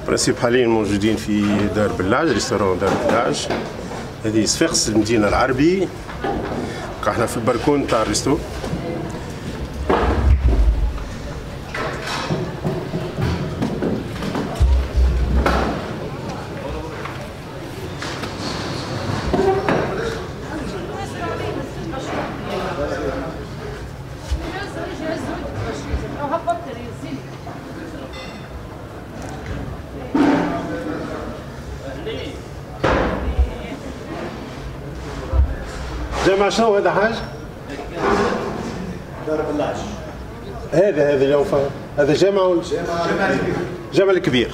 principe حاليا موجودين في دار بلاج، restaurant دار بلاج. هذه صفاقس المدينة العربي. احنا في البركون تاع ال resto. جامع شنو هذا حاج؟ دار بلاج. هذا اليوم هذا جامع جامع الكبير.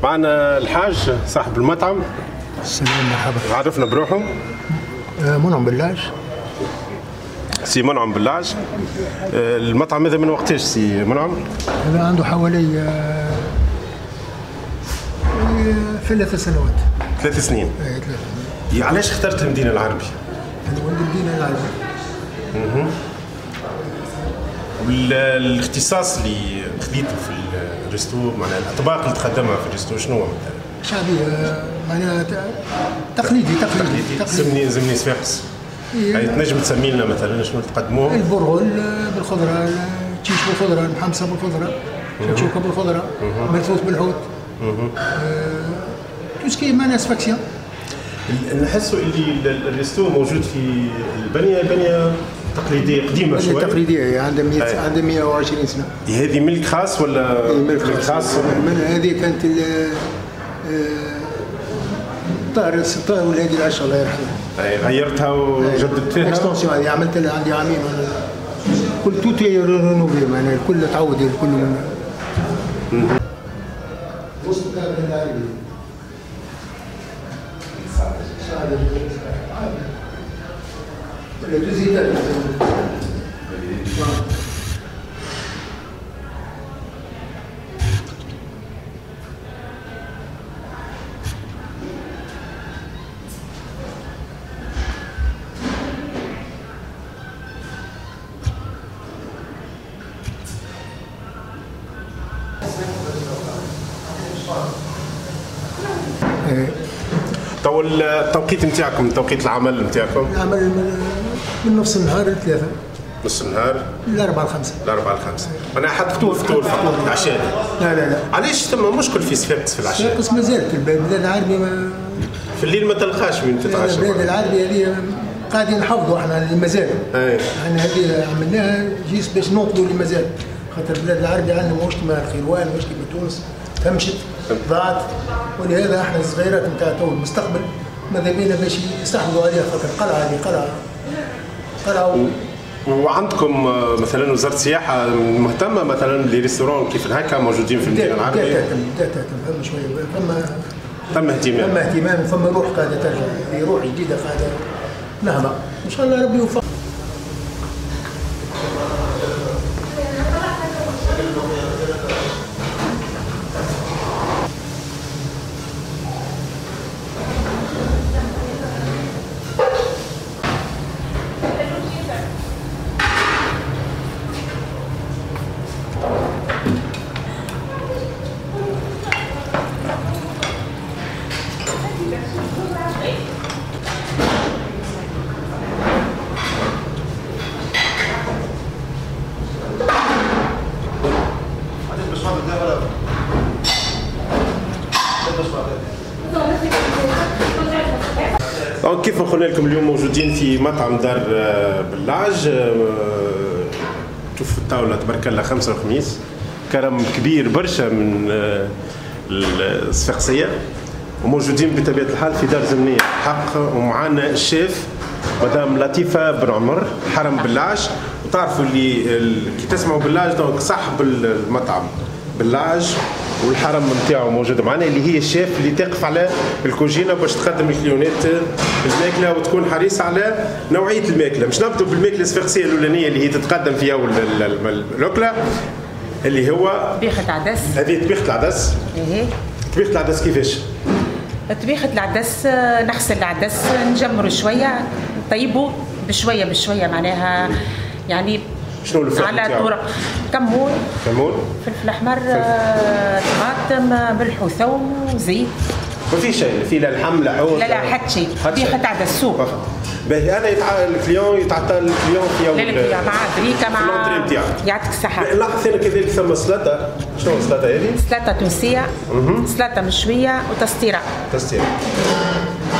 معنا الحاج صاحب المطعم. السلام، مرحبا. عرفنا بروحه. منعم بلاج. سي منعم بلاج. المطعم هذا من وقتاش سي منعم؟ هذا عنده حوالي 3 سنوات. 3 سنين. اي 3 سنين. علاش اخترت المدينة العربي؟ أنا ولد المدينة العربي. والاختصاص اللي خذيته في ال resto، معناها الأطباق اللي تقدمها في ال resto شنو هو مثلا؟ شعبية، معناها تقليدي تقليدي. زمني صفاقس. يعني تنجم تسمي لنا مثلا شنو تقدموه؟ البرغل بالخضرة، التشيش بالخضرة، المحمصة بالخضرة، شكشوكة بالخضرة، ملفوف بالحوت. tout ce qui معناها صفاقسية. نحسوا اللي ال resto موجود في البنية، بنيه تقليدية قديمة شوية. تقليدية عندها 120 سنة. هذه ملك خاص ولا؟ ملك خاص. هذه كانت الطاهر والهادي العشاء الله يرحمه. غيرتها وجددت فيها؟ extension هذه عملت لها عندي عامين وانا كل tout rénové، معناها الكل تعود الكل من وسط العربي. تو التوقيت نتاعكم، توقيت العمل نتاعكم؟ العمل من نص النهار لثلاثة. نص النهار؟ ل4 ل5. ل4 ل5، معناها حتى فطور فقط، العشاء. لا لا لا. علاش ثم مشكل في صفاقس في العشاء؟ صفاقس مازالت البلاد العربي ما في الليل ما تلقاش وين تتعشى. البلاد العربي هذه قاعدين نحافظوا احنا اللي مازال. احنا هذه عملناها juste باش ننقذوا اللي مازال، خاطر البلاد العربي عندنا ماهوش كيما الخيروان، ماهوش كيما تونس، تمشت ضاعت، ولهذا احنا الصغيرات نتاع تو المستقبل ماذا بينا باش يستحفظوا عليها، خاطر القلعة هذه قلعه. وعندكم مثلا وزارة السياحة مهتمة مثلا les restaurants كيف هكا موجودين في المدينة العربية؟ بدات تهتم، فما شوية، فما اهتمام، فما اهتمام، وفما روح قاعدة ترجع، روح جديدة قاعدة نهضة، ان شاء الله ربي يوفق. كيف ما قلنا لكم اليوم موجودين في مطعم دار بلاج. تشوف الطاولة تبارك الله 5 وخميس، كرم كبير برشا من الصفاقسية، وموجودين بطبيعة الحال في دار زمنية حق، ومعنا الشيف مدام لطيفة بن عمر حرم بلاج. وتعرفوا اللي كي تسمعوا بلاج donc صاحب المطعم بلاج والحرم نتاعو موجود معنا، اللي هي الشيف اللي تقف على الكوجينه باش تقدم الكليونات الماكلة وتكون حريصة على نوعية الماكلة. مش نبدو بالماكله الصفاقسيه الاولانية اللي هي تتقدم في اول الاكلة اللي هو طبيخه عدس. هذه طبيخه العدس. ايه طبيخه العدس كيفاش؟ طبيخه العدس نغسل العدس، نجمره شوية، نطيبه بشوية بشوية، معناها يعني شنو الفلفل على طرق كمون، فلفل احمر، طماطم، ملح وثوم وزيت. ما في شيء، في لا لحم لا حوت لا لا حتى شيء، طبيخة عدس soupe. باهي انا ال client يتعطى ال client في يوم لا ال client مع بريكه مع l'entrée نتاعو. يعطيك الصحة. لاحظت انا كذلك ثم سلطة، شنو السلطة هذه؟ سلطة تونسية، سلطة مشوية وتسطيرة. تسطيرة.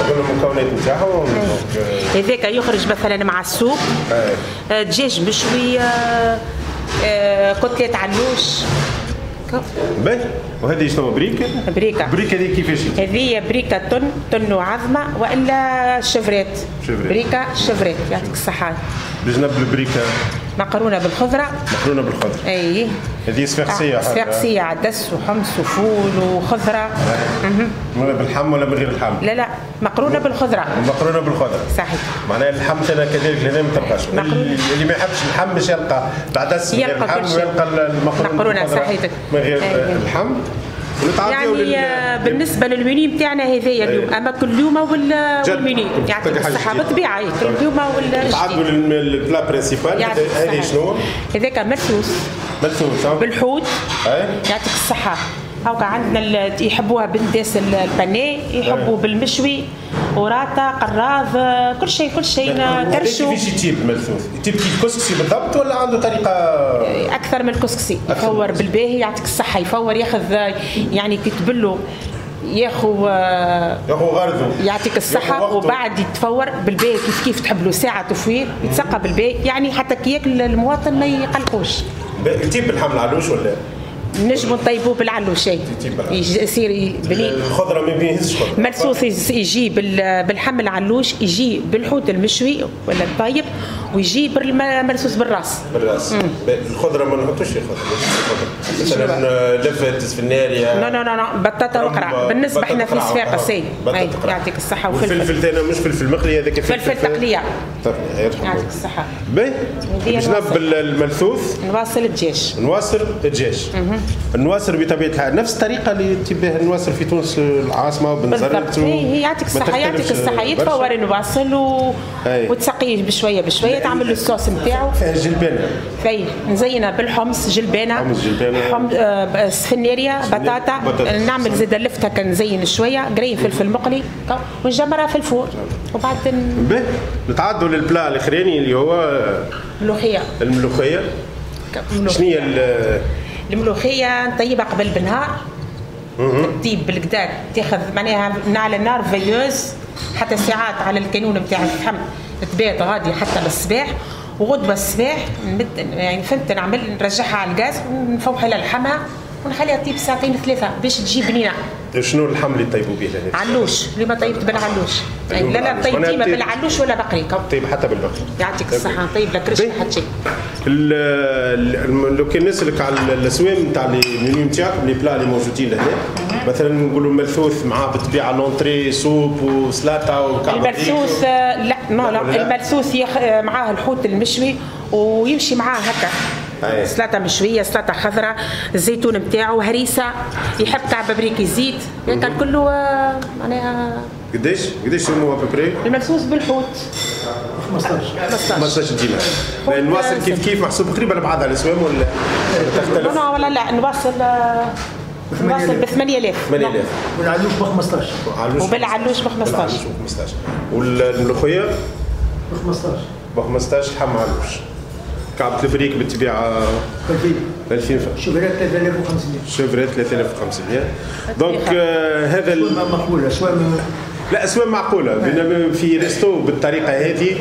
قلنا المكونات نتاعهم. هذاك يخرج مثلا مع ال soupe، دجاج مشوي، côtelette علوش. باهي وهذه شنو بريكه؟ بريكه. بريكه هذه كيفاش؟ هذه بريكه thon وعظمه والا chevrette. بريكه chevrette يعطيك الصحة. بجنب البريكه مقرونة بالخضره. مقرونة بالخضره. اي هذه صفاقسيه. صفاقسيه عدس وحمص وفول وخضره. باللحم ولا من غير اللحم؟ لا لا مقرونة بالخضره. مقرونة بالخضره صحيح. معناها اللحم ثاني كذلك هنا ما تلقاش، اللي ما يحبش اللحم باش يلقى العدس من غير اللحم ويلقى المقرونه صحيتك من غير اللحم. يعني بالنسبة للمنيو نتاعنا هذايا اليوم، اما كل يوم والمنيو يعطيك الصحة بالطبيعة، كل يوم وال تعدوا لل plat principal. هذه شنو؟ هذاك مرثوث. مرثوث بالحوت يعطيك الصحة. هاكا عندنا يحبوها بالداس ال pané، يحبوا بالمشوي، وراطه، قراض، كل شيء كل شيء كرشو. كيفاش يطيب الملثوث؟ يطيب كيف الكسكسي بالضبط ولا عنده طريقه؟ اكثر من الكسكسي، يفور بالباهي يعطيك الصحة، يفور ياخذ يعني كي تبلو ياخو غرضه يعطيك الصحة، وبعد يتفور بالباهي كيف كيف تحب له ساعة تفوير يتسقى بالباهي، يعني حتى كي ياكل المواطن ما يقلقوش. يطيب باللحم العلوش ولا؟ نجمو نطيبوه بالعلوش يصير بنين. الخضرة ما بيهزش خضرة. مرثوث يجي باللحم العلوش، يجي بالحوت المشوي ولا الطايب، ويجي بالمرثوث بالراس. بالراس. الخضرة ما نحطوش خضرة. مثلا لفت سفناريا. non non non بطاطا وقرع. بالنسبة احنا في صفاقس يعطيك الصحة. والفلفل ثاني مش فلفل مقلي، هذاك فلفل تقليه. يعطيك الصحة. باهي باش نبل الملثوث نواصل الدجاج. نواصل الدجاج. النواصر بطبيعة الحال نفس الطريقة اللي تباه النواصر في تونس العاصمة وبنزرت. هي يعطيك الصحة يعطيك الصحة، يتفور النواصل وتسقيه بشوية بشوية، تعمل له الصوص نتاعو. فيها جلبانه. فيه نزينها بالحمص، جلبانه، حمص جلبانه، سفناريا، بطاطا، نعمل زيد اللفته كنزين شوية، قرين فلفل مقلي ونجمرها في ال four وبعد به نتعدوا لل plat الاخراني اللي هو الملوخية. الملوخية شنو هي الملوخية؟ نطيبها قبل بالنهار، تطيب بالكدا، تاخذ معناها على النار veilleuse حتى ساعات على الكانون نتاع الفحم، تبات غادي حتى للصباح، وغدوه الصباح يعني فهمت نعمل نرجعها على الغاز ونفوح لها لحمها ونخليها تطيب ساعتين ثلاثة باش تجي بنينه. شنو اللحم اللي طيبوا به؟ علوش، اللي ما طيبت بالعلوش. لا لا طيب ديما بالعلوش ولا بقري. طيب حتى بالبقري. يعطيك الصحة، طيب لا كرش حتى شيء. لو كان نسألك على الاسوام نتاع les menus نتاعكم، les plats اللي موجودين لهنا، مثلا نقولوا الملثوث معاه بالطبيعة l'entrée soupe وسلطة وكعبه. الملثوث لا non لا، الملثوث معاه الحوت المشوي ويمشي معاه هكا سلطة مشوية، سلطة خضراء، الزيتون نتاعو، هريسه، يحب كعبه بريك يزيد، هكا كله معناها. قداش هو à peu près؟ الملثوث بالحوت 15 دينار. نواصل كيف كيف محسوب قريبه لبعضها الاسوام ولا تختلف؟ لا ولا لا، نواصل ب 8000. 8000. والعلوش ب 15. وبالعلوش ب 15. والملوخيه ب 15. ب 15 لحم علوش. كعبة البريك بالطبيعة 2000. chevrette 3500. chevrette 3500. donc هذا مقبولة، اسوام لا اسوام معقولة في resto بالطريقة هذه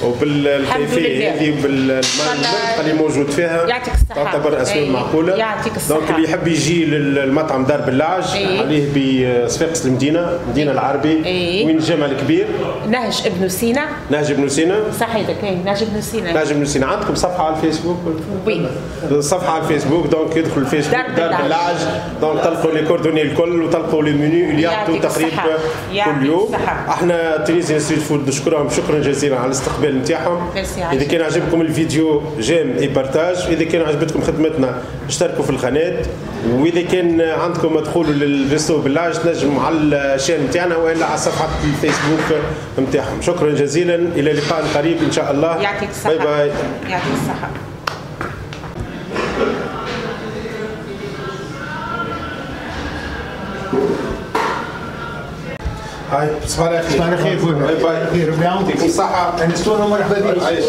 وبالكيفيه هذه وبالمنطقه اللي موجود فيها تعتبر اسوام معقولة. يعطيك الصحة. donc اللي يحب يجي للمطعم دار بلعج عليه بصفاقس المدينة، المدينة العربي، وين الجامع الكبير؟ نهج ابن سينا. نهج ابن سينا صحيتك. نهج ابن سينا. نهج ابن سينا. عندكم صفحة على الفيسبوك؟ oui صفحة على الفيسبوك، donc يدخل الفيسبوك دار بلعج، donc تلقوا les coordonnées الكل وتلقوا les menus اللي يعطوا تقريبا كل يوم. احنا Tunisian Street Food نشكرهم شكرا جزيلا على الاستقبال نتاعهم. اذا كان عجبكم الفيديو j'aime et partage، اذا كان عجبتكم خدمتنا اشتركوا في القناة، واذا كان عندكم دخول لل resto بلعج تنجموا على ال chaîne نتاعنا والا على صفحة الفيسبوك نتاعهم. شكرا جزيلا، الى لقاء قريب ان شاء الله. يعطيك الصحة. bye bye. يعطيك الصحة. هاي تصبح على خير. تصبح على خير خويا. bye bye. خير ربي يعاونك. يعطيكم الصحة. انستونا ومرحبا بك. عايش.